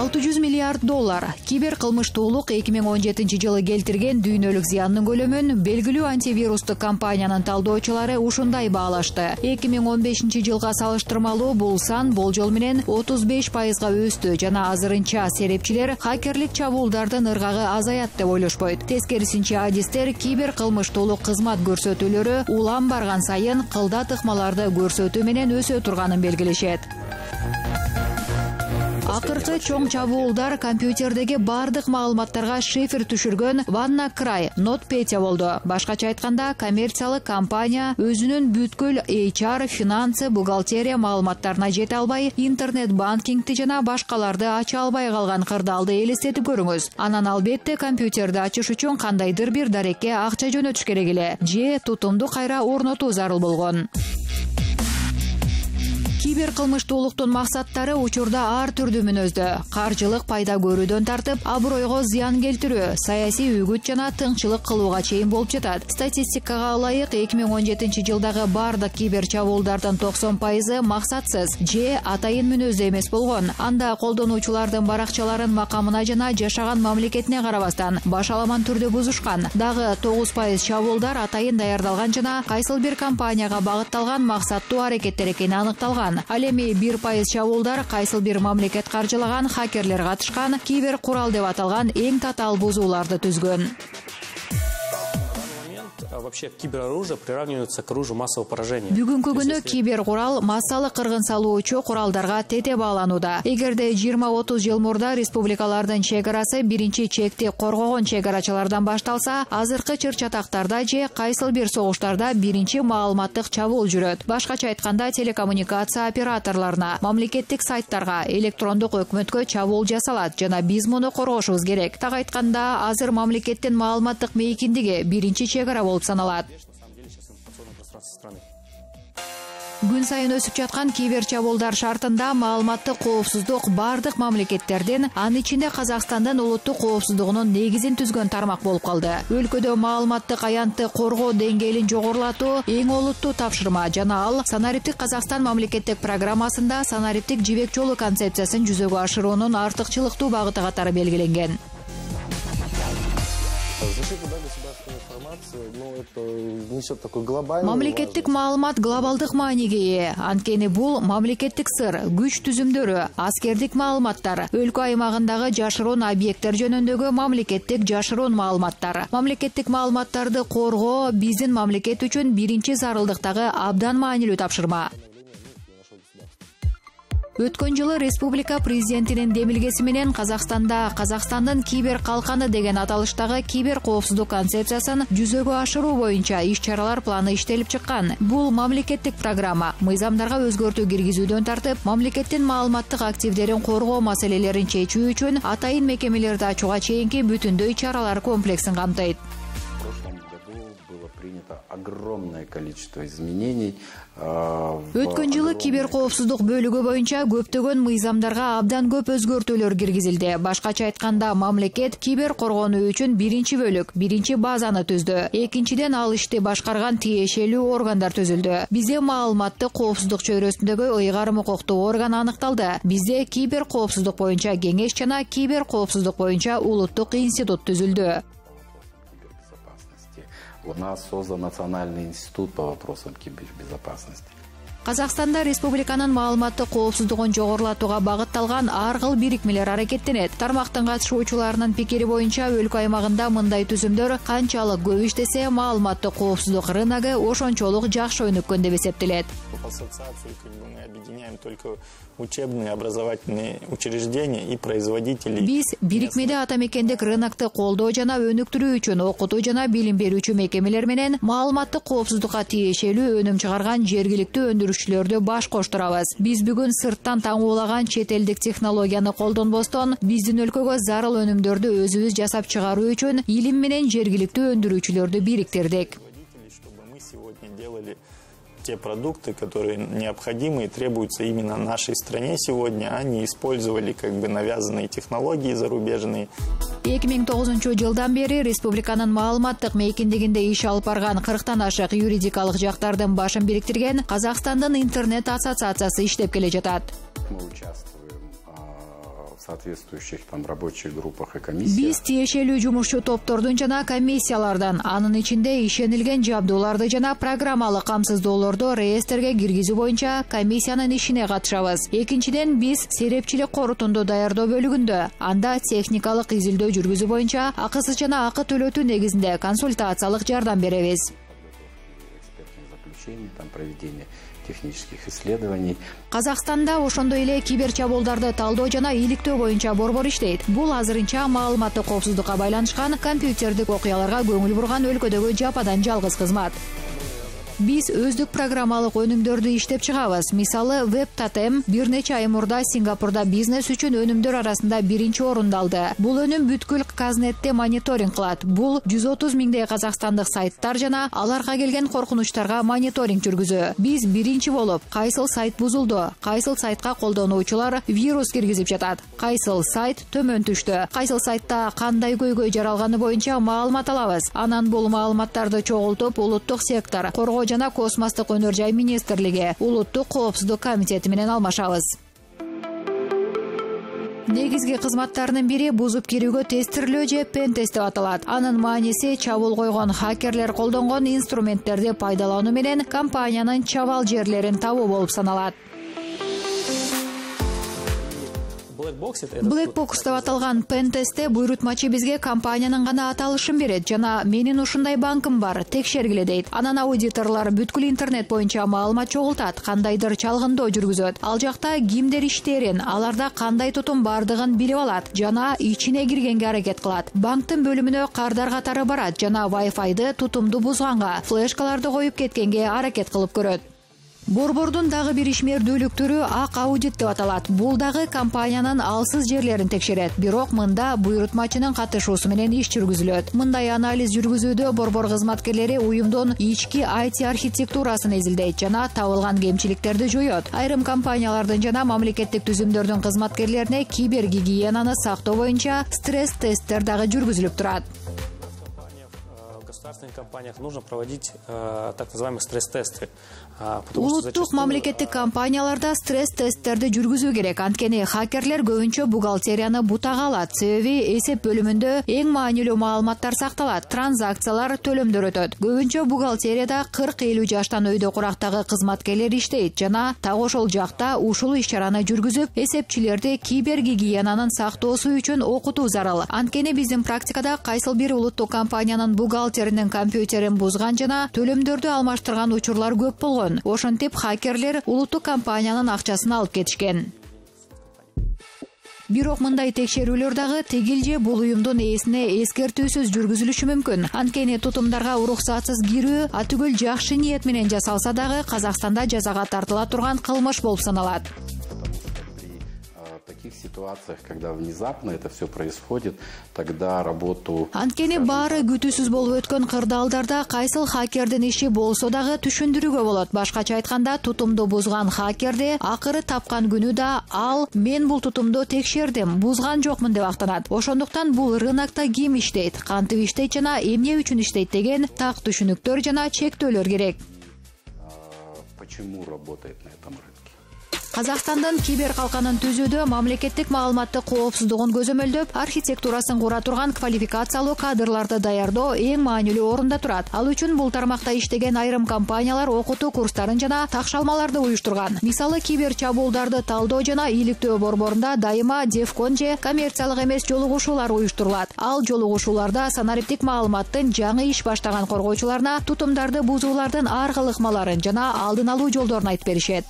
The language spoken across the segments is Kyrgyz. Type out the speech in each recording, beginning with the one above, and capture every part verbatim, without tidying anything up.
алты жүз миллиард доллар. Кибер кылмыштуулук эки миң он жетинчи жылы келтирген дүйнөлүк зыяндын көлөмүн белгилүү антивирустук компаниянын талдоочулары ушундай баалашты. эки миң он бешинчи жылга салыштырмалуу бул сан болжол менен отуз беш пайызга өстү жана азырынча серепчилер хакерлик чабуулдардын ыргагы азаят деп ойлошпойт. Тескерисинче адистер кибер кылмыштуулук кызмат көрсөтүүлөрү улам барган сайын кылда тыкмаларды көрсөтүү менен өсө турганын белгилешет. Акыркы чоң чабуулдар компьютердеги бардык маалыматтарга шифр түшүргөн WannaCry NotPetya болду. Башкача айтканда, коммерциялык компания өзүнүн бүткүл эйч ар, финансы, бухгалтерия маалыматтарына жете албай, интернет банкингти жана башкаларды ача албай калган кырдаалды элестетип көрүңүз. Анан албетте компьютерди ачыш үчүн кандайдыр бир дарекке акча жөнөтүш керек эле, же тутумду кайра орнотуу зарыл болгон. Кибер кылмыштуулуктун максаттары учурда ар түрдүү мүнөздө. Каржылык пайда көрүүдөн тартып, абройго зыян келтирүү, саясий үгүт жана тыңчылык кылууга чейин болуп жатат. Статистикага ылайык эки миң он жетинчи жылдагы бардык кибер чабуулдардын токсон пайызы максатсыз же атайын мүнөздө эмес болгон. Анда колдонуучулардын баракчаларын макамына жана жашаган мамлекетине карабастан башаламан түрдө бузушкан. Дагы тогуз пайыз чабуулдар атайын даярдалган жана кайсыл бир компанияга багытталган максаттуу аракеттер экени аныкталган. Ал эми бир пайыз чабуулдар кайсыл бир мамлекет каржылаган хакерлер катышкан кибер курал деп аталган эң татаал бузууларды түзгөн. Вообще кибероружие приравнивается к оружию массового поражения. Бүгүнкү күнү кибер курал массалык кыргын салуучу куралдарга тете бааланууда. Эгерде жыйырма отуз жыл мурда республикалардын чек арасы биринчи чекти коргогон чек арачылардан башталса, азыркы чыр-чатактарда же кайсыл бир согуштарда биринчи маалыматтык чабуул жүрөт. Башкача айтканда, телекоммуникация операторлоруна, мамлекеттик сайттарга, электрондук өкмөткө чабуул жасалат жана биз муну коргошубуз керек. Так айтканда, азыр мамлекеттин маалыматтык мейкиндиги биринчи чек ара болуп саналат. Күн сайын өсүп жаткан кибер чабуулдар шартында маалыматтык коопсуздук бардык мамлекеттердин, анын ичинде Казакстандын улуттук коопсуздугунун негизин түзгөн тармак болуп калды. Өлкөдө маалыматтык аянтты коргоо деңгээлин жогорулатуу эң олуттуу тапшырма жана ал Санариптик Казакстан мамлекеттик программасында санариптик жибек жолу концепциясын жүзөгө ашыруунун артыкчылыктуу багыты катары белгиленген. Мамлекеттик маалымат глобалдык мааниге ээ. Анткени бул мамлекеттик сыр, күч түзүмдөрү, аскердик маалыматтар, өлкө аймагындагы жашыруун объекттер жөнүндөгү мамлекеттик жашыруун маалыматтар. Мамлекеттик маалыматтарды коргоо биздин мамлекет үчүн биринчи зарылдыктагы абдан маанилүү тапшырма. Өткөн жылы республика президентинин демилгеси менен Казакстанда Казакстандын кибер калканы деген аталыштагы кибер коопсуздук концепциясын жүзөгө ашыруу боюнча иш-чаралар планы иштелип чыккан. Бул мамлекеттик программа мыйзамдарга өзгөртүү киргизүүдөн тартып, мамлекеттин маалыматтык активдерин коргоо маселелерин чечүү үчүн атайын мекемелерди ачууга чейинки бүтүндөй чаралар комплексин камтыйт. Огромное количество изменений. Өткөн жылы кибер коопсуздук бөлүгү боюнча көптөгөн мыйзамдарга абдан көп өзгөртүүлөр киргизилди. Башкача айтканда, мамлекет кибер коргонуу үчүн биринчи бөлүк, биринчи базаны түздү. Экинчиден, ал ишти башкарган тиешелүү органдар түзүлдү. Бизде маалыматтык коопсуздук чөйрөсүндөгү ыйгарым укуктуу орган аныкталды. Бизде кибер коопсуздук боюнча кеңеш жана кибер коопсуздук боюнча улуттук институт түзүлдү. У нас создан Национальный институт по вопросам кибербезопасности. Казакстанда республиканын маалыматтык коопсуздугун жогорулатууга багытталган ар кыл бирикмелер аракеттенет. Тармактын катышуучуларынын пикири боюнча, өлкө аймагында мындай түзүмдөр канчалык көп иштесе, маалыматтык коопсуздук рыногу ошончолук жакшы өнүккөн деп эсептелет. Ассоциацию мы объединяем только учебные, образовательные учреждения и производителей. Биз бирикмеде ата мекендик рынокту колдоо жана өнүктүрүү үчүн окутуу жана билим берүүчү мекемелер менен маалыматтык коопсуздукка тиешелүү өнүм чыгарган жергиликтүү өндүрүшчүлөрдү баш коштурабыз. Биз бүгүн сырттан таңуулаган чет элдик технологияны колдонбостон, биздин өлкөгө зарыл өнүмдөрдү өзүбүз жасап чыгаруу үчүн илим менен жергиликтүү өндүрүүчүлөрдү бириктирдик. Те продукты, которые необходимы и требуются именно нашей стране сегодня, а не использовали как бы навязанные технологии зарубежные. эки миң тогузунчу жылдан бери республиканын маалыматтык мейкиндигинде иш алып барган кырктан ашык юридикалык жактардын башын бириктирген Казакстандын интернет ассоциациясы иштеп келе жатат. Мы участвуем в соответствующих там рабочих группах и комиссиях. Биз тиешелүү жумушчу топтордун жана комиссиялардан, анын ичинде ишенилген жабдууларды жана программалык камсыздоолорду реестрге киргизүү боюнча комиссиянын ишине катышабыз. Экинчиден, биз серепчилик корутунду даярдоо бөлүгүндө, анда техникалык изилдөө жүргүзүү боюнча акысыз жана акы төлөтүү негизинде консультациялык жардам беребиз. Там проведение технических исследований. Казакстанда ошондой эле киберчабуулдарды талдоо жана иликтөө боюнча борбор иштейт. Бул азырынча маалыматтык коопсуздукка байланышкан компьютердик окуяларга көңүл бурган өлкөдөгү жападан жалгыз кызмат. Биз өздүк программалык өнүмдөрдү иштеп чыгабыз. Мисалы, WebTotem бир нече ай мурда Сингапурда бизнес үчүн өнүмдөр арасында биринчи орунду алды. Бул өнүм бүткүл Казнетте мониторинг кылат. Бул жүз отуз миңдей казакстандык сайттар жана аларга келген коркунучтарга мониторинг жүргүзүү. Биз биринчи болуп, кайсыл сайт бузулду, кайсыл сайтка колдонуучулар вирус киргизип жатат, кайсыл сайт төмөн түштү, кайсыл сайтта кандай көйгөй жаралганы боюнча маалымат алабыз. Анан бул маалыматтарды чогултуп, улуттук сектор, коргоо жана космостук өнөр жай министрлиги, улуттук коопсуздук комитети менен алмашабыз. Негизги кызматтарынын бири бузуп кирүүгө тестирлөө же пен тест деп аталат. Анын мааниси чабуул койгон хакерлер колдонгон инструменттерди пайдалануу менен компаниянын чабал жерлерин табуу болуп саналат. Black Box деп аталган пен-тестте буйрутмачы бизге компаниянын гана аталышын берет жана менин ушундай банкым бар, текшергиле дейт. Анан аудиторлор бүткүл интернет боюнча маалымат чогултат, кандайдыр чалгындоо жүргүзөт. Ал жакта кимдер иштерин, аларда кандай тутум бардыгын билип алат жана ичине киргенге аракет кылат. Банктын бөлүмүнө кардар катары барат жана Wi-Fi'ды тутумду бузганга, флешкаларды коюп кеткенге аракет кылып көрөт. Борбордун дагы бир ишмердүүлүк түрү ак аудит деп аталат. Бул дагы компаниянын алсыз жерлерин текшерет, бирок мында буйрутмачынын катышуусу менен иш жүргүзүлөт. Мындай анализ жүргүзүүдө борбор кызматкерлери уюмдун ички ай ти архитектурасын изилдейт жана табылган кемчиликтерди жоёт. Айрым компаниялардын жана мамлекеттик түзүмдөрдүн кызматкерлерине кибергигиенаны сактоо боюнча стресс-тесттер дагы жүргүзүлүп турат. В государственных компаниях нужно проводить э, так называемые стресс-тесты. Улуттук мамлекеттик компанияларда стресс-тесттерди жүргүзүү керек. Анткени хакерлер көбүнчө бухгалтерияны бутага алат. Себеби эсеп бөлүмүндө эң маанилүү маалыматтар сакталат, транзакциялар, төлөмдөр өтөт. Көбүнчө бухгалтерияда кырк элүү жаштан өйдө курактагы кызматкерлер иштейт жана так ошол жакта ушул иш-чараны жүргүзүп, эсепчилерди кибергигиенанын сактоосу үчүн окутуу зарыл. Анткени биздин практикада кайсыл бир улуттук компаниянын бухгалтеринин компьютерин бузган жана төлөмдөрдү алмаштырган учурлар көп болгон. Ошентип хакерлер улуттук компаниянын акчасын алып кетишкен. Бирок мындай текшерүүлөр дагы тигил же бул уюмдун ээсине эскертүүсүз жүргүзүлүшү мүмкүн. Анткени тутумдарга уруксатсыз кирүү атүгүл жакшы ниет менен жасалса дагы Казакстанда жазага тартыла турган кылмыш болуп саналат. В таких ситуациях, когда внезапно это все происходит, тогда работу... Анткени баары күтүүсүз болуп өткөн кырдаалдарда кайсыл хакердин иши болсо дагы түшүндүрүүгө болот. Башкача айтканда, тутумду бузган хакерди акыры тапкан күнү да ал мен бул тутумду текшердим, бузган жокмун деп актанат. Ошондуктан бул рынокто ким иштейт, кантип иштейт жана эмне үчүн иштейт деген так түшүнүктөр жана чектөөлөр керек. Почему работает на этом рынке? Казакстандын кибер калканын түзүүдө мамлекеттик маалыматтык коопсуздугун көзөмөлдөп, архитектурасын кура турган квалификациялуу кадрларды даярдоо эң маанилүү орунда турат. Ал үчүн бул тармакта иштеген айрым компаниялар окутуу курстарын жана такшалмаларды уюштурган. Мисалы, кибер чабуулдарды талдоо жана иликтөө борборунда дайыма Дефкон же коммерциялык эмес жолугушуулар уюштурулат. Ал жолугушууларда санариптик маалыматтын жаңы иш баштаган коргоочуларына тутумдарды бузуулардын ар кыл ыкмаларын жана алдын алуу жолдорун айтып беришет.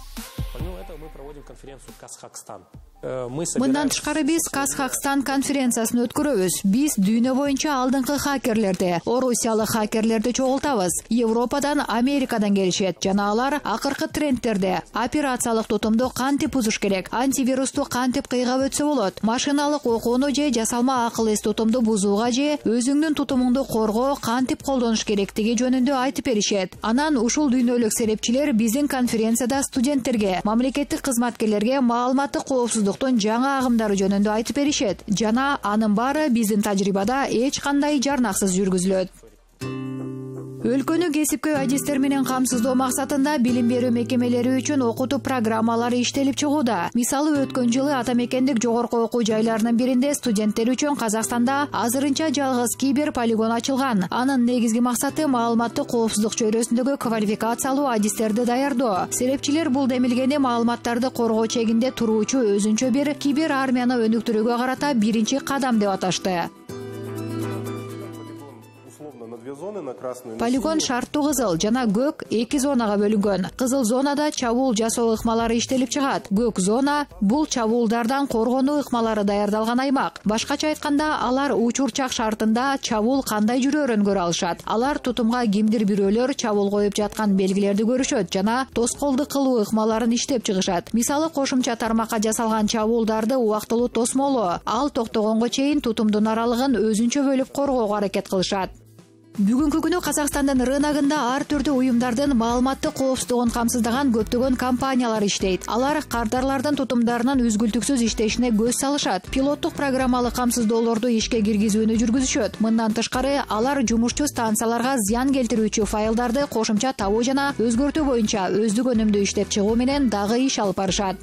Конференцию Казахстан. Мындан тышкары биз Казахстан конференциясын өткөрөбүз. Биз дүйнө боюнча алдыңкы хакерлерди, орусиялык хакерлерди чогултабыз. Европадан, Америкадан келишет жана алар акыркы трендтерди, операциялык тутумду кантип бузуш керек, антивирусту кантип кыйгап өтсө болот, машиналык окууну же жасалма акыл эс тутумду бузууга же өзүңдүн тутумуңду коргоо кантип колдонуш керектиги жөнүндө айтып беришет. Анан ушул дүйнөлүк серепчилер биздин конференцияда студенттерге, мамлекеттик кызматкерлерге маалыматтык коопсуздук жаңа агымдары жөнүндө айтып беришет жана анын баары биздин тажрыйбада эч кандай жарнаксыз жүргүзүлөт. Өлкөнү кесипкөй адистер менен камсыздоо максатында билим берүү мекемелери үчүн окутуу программалары иштелип чыгууда. Мисалы, өткөн жылы ата мекендик жогорку окуу жайларынын биринде студенттер үчүн Казакстанда азырынча жалгыз кибер полигон ачылган. Анын негизги максаты маалыматтык коопсуздук чөйрөсүндөгү квалификациялуу адистерди даярдоо. Серепчилер бул демилгени маалыматтарды коргоо чегинде туруучу өзүнчө бир кибер армияны өнүктүрүүгө карата биринчи кадам деп аташты. Полигон шарттуу кызыл жана көк эки зонага бөлүнгөн. Кызыл зонада чабуул жасоо ыкмалары иштелип чыгат. Көк зона бул чабуулдардан коргонуу ыкмалары даярдалган аймак. Башкача айтканда, алар учурчак шартында чабуул кандай жүрөөрүн көрө алышат. Алар тутумга кимдир бирөөлөр чабуул коюп жаткан белгилерди көрүшөт жана тоскоолдук кылуу ыкмаларын иштеп чыгышат. Мисалы, кошумча тармакка жасалган чабуулдарды убактылуу тосмолоо, ал токтогонго чейин тутумдун аралыгын өзүнчө бөлүп коргоого аракет кылышат. Бүгүнкү күнү Казакстандын рыногунда ар түрдүү уюмдардын маалыматтык коопсуздугун камсыздаган көптөгөн компаниялар иштейт. Алар кардарлардын тутумдарынын үзгүлтүксүз иштешине көз салышат. Пилоттук программалык камсыздоолорду ишке киргизүүнү жүргүзүшөт. Мындан тышкары, алар жумушчу станцияларга зыян келтирүүчү файлдарды кошумча табуу жана өзгөртүү боюнча өздүк өнүмдүү иштеп чыгуу менен дагы иш алып барышат.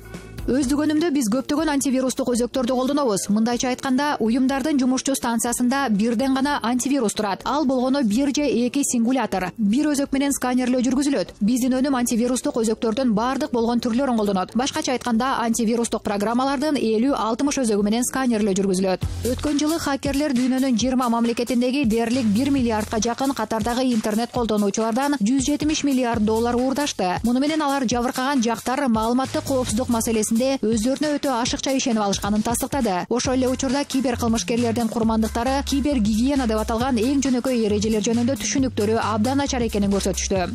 Өздүк өнүмдө биз көптөгөн антивирустук өзөктөрдү колдонобуз. Мындайча айтканда, уюмдардын жумушчу станциясында бирден гана антивирус турат. Ал болгону бир же эки сингулятор. Бир өзөк менен сканерлөө жүргүзүлөт. Биздин өнүм антивирустук өзөктөрдүн бардык болгон түрлөрүн колдонот. Башкача айтканда, антивирустук программалардын элүү алтымыш өзөгү менен сканерлөө жүргүзүлөт. Өткөн жылы хакерлер дүйнөнүн жыйырма мамлекетиндеги дээрлик бир миллиардка жакын катардагы интернет колдонуучулардан жүз жетимиш миллиард доллар уурдашты. Муну менен алар жабыркаган жактар маалыматтык коопсуздук маселесин өздөрүнө өтө ашыкча ишенип алышканын тастыктады. Ошол эле учурда кибер кылмышкерлердин курмандыктары кибер гигиена деп аталган эң жөнөкөй эрежелер жөнүндө түшүнүктөрү абдан начар экенин көрсөтүштү.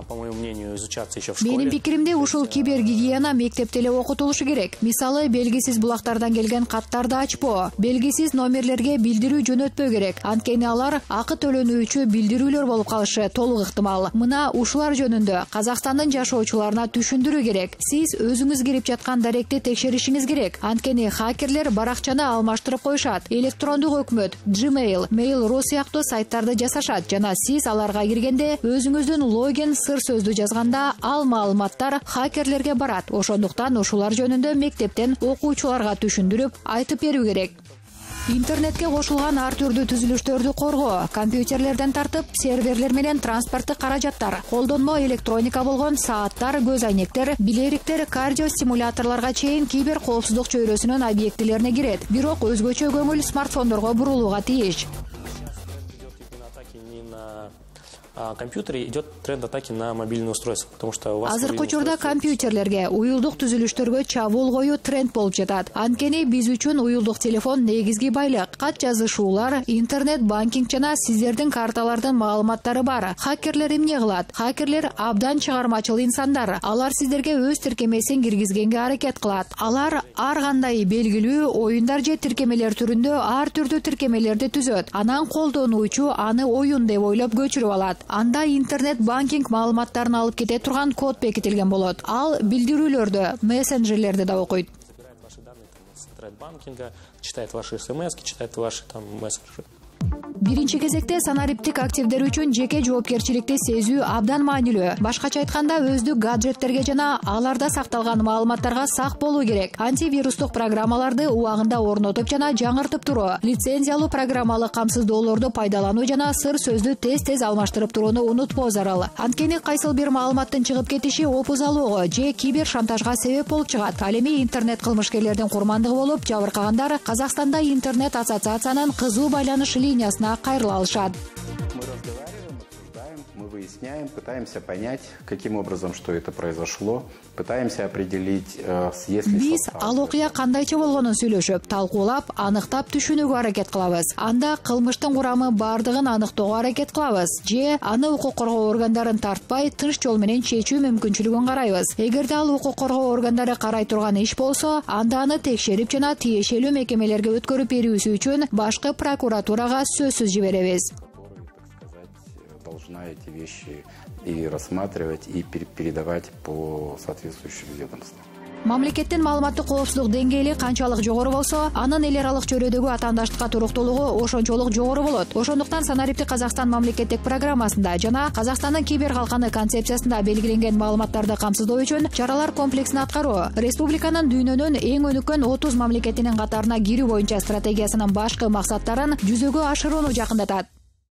По моему мнению, изучаться еще в школе. Менин пикиримде, ушул кибергигиена мектепте эле окутулушу керек. Мисалы, белгисиз булактардан келген каттарды ачпоо, белгисиз номерлерге билдирүү жөнөтпөө керек. Анткени алар акы төлөнүүчү билдирүүлөр болуп калышы толук ыктымал. Мына ушулар жөнүндө Казакстандын жашоочуларына түшүндүрүү керек. Сиз өзүңүз кирип жаткан даректи текшеришиңиз керек. Анткени хакерлер баракчаны алмаштырып коюшат. Электрондук өкмөт, Gmail, Mail.ru сыяктуу сайттарды жасашат жана сиз аларга киргенде өзүңүздүн логин сыр сөздү жазганда ал маалыматтар хакерлерге барат. Ошондуктан ушулар жөнүндө мектептен окуучуларга түшүндүрүп айтып берүү керек. Интернетке кошулган ар түрдүү түзүлүштөрдү коргоо, компьютерлерден тартып серверлер менен транспорттук каражаттар, колдонмо электроника болгон сааттар, көз айнектер, билериктер, кардиостимуляторлорго чейин кибер коопсуздук чөйрөсүнүн объектилерине кирет. Бирок өзгөчө көңүл смартфондорго бурулууга тийиш. Компьютере идет тренд атаки на мобильные устройства, потому что у вас азыркы учурда компьютерлерге, уюлдук түзүлүштөргө чабуул коюу тренд болуп жатат. Анткени биз үчүн уюлдук телефон негизги байлык. Кат жазышуулар, интернет банкинг жана сиздердин карталардын маалыматтары бар. Хакерлер эмне кылат? Хакерлер абдан чыгармачыл инсандар. Алар сиздерге өз тиркемесин киргизгенге аракет кылат. Алар ар кандай белгилүү оюндар же тиркемелер түрүндө ар түрдүү тиркемелерди түзөт. Анан колдонуучу аны оюн деп ойлоп көчүрүп алат. Анда интернет банкинг маалыматтарын алып кете турган код бекитилген болот. Ал билдирүүлөрдө, мессенджерлерде да окуйт. Собирает банкинга, читает ваши смс, читает ваши там мессенджеры. Биринчи кезекте санариптик активдер үчүн жеке жоопкерчиликти сезүү абдан маанилүү. Башкача айтканда, өздүк гаджеттерге жана аларда сакталган маалыматтарга сак болуу керек. Антивирустук программаларды убагында орнотуп жана жаңыртып туруу, лицензиялуу программалык камсыздоолорду пайдалануу жана сыр сөздү тез-тез алмаштырып турууну унутпоо зарыл. Анткени кайсыл бир маалыматтын чыгып кетиши опузалоого же кибер шантажга себеп болуп чыгат. Ал эми интернет кылмышкерлердин курмандыгы болуп жабыркагандар Казакстанда интернет ассоциациянын кызуу байланыш линиясына кайрыла алышат. Мы разговариваем, обсуждаем, мы выясняем, пытаемся понять, каким образом, что это произошло, пытаемся определить, если... Биз ал окуя кандайча болгонун сүйлөшүп, талкуулап, аныктап түшүнүүгө аракет кылабыз. Анда кылмыштын курамы бардыгын аныктоого аракет кылабыз, же аны укук коргоо органдарын тартпай, тынч жол менен чечүү мүмкүнчүлүгүн карайбыз. Эгерде ал укук коргоо органдары карай турган иш болсо, анда аны текшерип жана тиешелүү мекемелерге өткөрүп берүүсү үчүн башкы прокуратурага сөзсүз жиберебиз. Должна эти вещи и рассматривать, и передавать по соответствующим ведомствам. Мамлекеттин маалыматтык коопсуздук деңгээли канчалык жогору болсо, анын эл аралык чөйрөдөгү атаандаштыкка туруктуулугу ошончолук жогору болот. Ошондуктан Санариптик Казакстан мамлекеттик программасында жана Казакстандын кибер калканы концепциясында белгиленген маалыматтарды камсыздоо үчүн чаралар комплексин аткаруу, республиканын дүйнөнүн эң өнүккөн отуз мамлекетинин катарына кирүү боюнча стратегиясынын башкы максаттарын жүзөгө ашырууну жакындатат.